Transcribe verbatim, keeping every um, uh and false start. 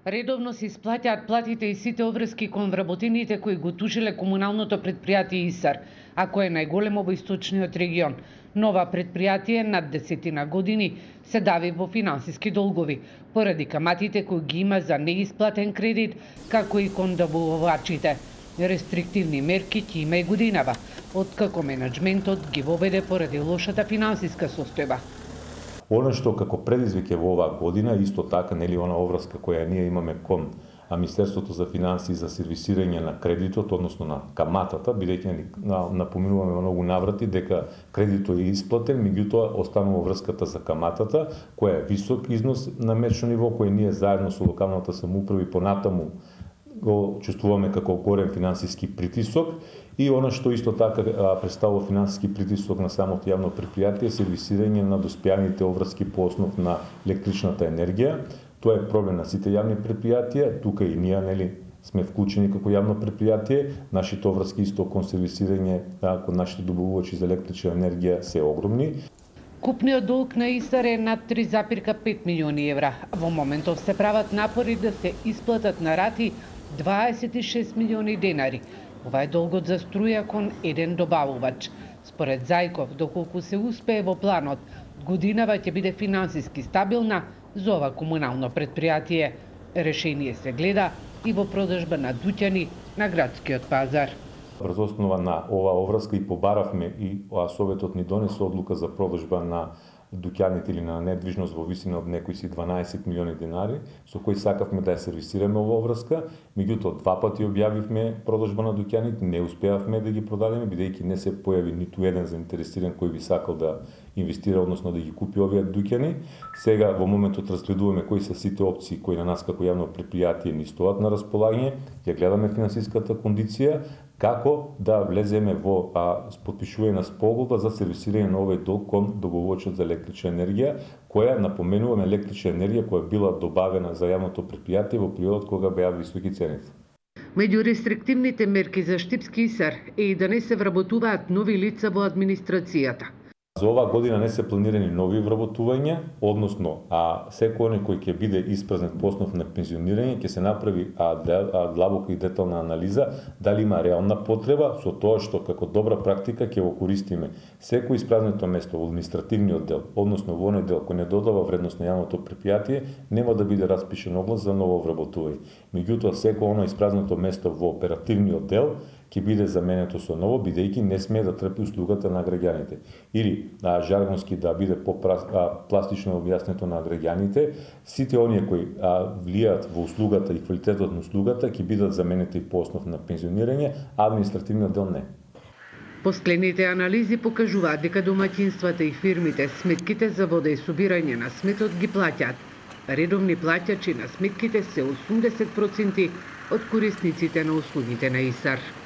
Редовно се исплаќаат платите и сите обврски кон вработените кои го тужиле комуналното претпријатие ИСАР, а кое е најголемо во источниот регион. Нова претпријатие над десетина години се дави во финансиски долгови, поради каматите кои ги има за неисплатен кредит, како и кон добувачите. Рестриктивни мерки ќе има и годинава, откако менаџментот ги воведе поради лошата финансиска состојба. Оно што како предизвик е во оваа година, исто така, нели, она обврска која ние имаме кон Министерството за финансии за сервисирање на кредитот, односно на каматата, бидејќи напоминуваме во многу наврати дека кредитот е исплатен, меѓутоа останува врската за каматата, која е висок износ на мечно ниво, кој ние заедно со локалната самоуправа и понатаму го чувствуваме како голем финансиски притисок, и она што исто така представува финансиски притисок на самото јавно претпријатие е сервисирање на доспјаните обврски по основ на електричната енергија. Тоа е проблем на сите јавни претпријатија, тука и ние, нели, сме вклучени како јавно претпријатие, нашите обврски исто кон сервисирање кон нашите добавувачи за електрична енергија се огромни. Купниот долг на ИСАР е над три запирка пет милиони евра. Во моментов се прават напори да се исплатат на рати дваесет и шест милиони денари. Ова е долгот за струја кон еден добавувач. Според Зајков, доколку се успее во планот, годинава ќе биде финансиски стабилна за ова комунално претпријатие. Решение се гледа и во продажба на дуќани на градскиот пазар. Врз основа на оваа обврска и побаравме и Советот ни донесе одлука за продажба на дуќаните или на недвижност во висина од некои си дванаесет милиони денари, со кои сакавме да ја сервисираме оваа обврска, меѓутоа два пати објавивме продажба на дуќаните, не успеавме да ги продадеме, бидејќи не се појави ниту еден заинтересиран кој би сакал да инвестира, односно да ги купи овие дуќани. Сега во моментот разгледуваме кои се сите опции кои на нас како јавно претпријатие ни стоат на располагање, ја гледаме финансиската кондиција, како да влеземе во а, подпишување на спогодба за сервисирање на овој долг кон добавувачот за електрична енергија, која, напоменуваме, електрична енергија која била добавена за јавното претпријатие во периодот кога беа високи цените. Меѓу рестриктивните мерки за Штипски ИСАР е и да не се вработуваат нови лица во администрацијата. За оваа година не се планирани нови вработувања, односно а секој оној кој ќе биде испразнет по основ на пензионирање ќе се направи а, а, длабока и детална анализа дали има реална потреба, со тоа што како добра практика ќе го користиме секој испразнето место во административниот дел, односно во оној дел кој не додава вредност на јавното претпријатие, нема да биде распишен оглас за ново вработување. Меѓутоа секој оно испразнето место во оперативниот дел ќе биде заменето со ново, бидејќи не смее да трпи услугата на граѓаните. Или а, жаргонски да биде по-пластично објаснето на граѓаните, сите оние кои а, влијаат во услугата и квалитетот на услугата ќе бидат заменети по основ на пензионирање, а административниот дел не. Последните анализи покажуваат дека домаќинствата и фирмите сметките за вода и собирање на сметот ги плаќаат. Редовни плаќачи на сметките се осумдесет проценти од корисниците на услугите на ИСАР.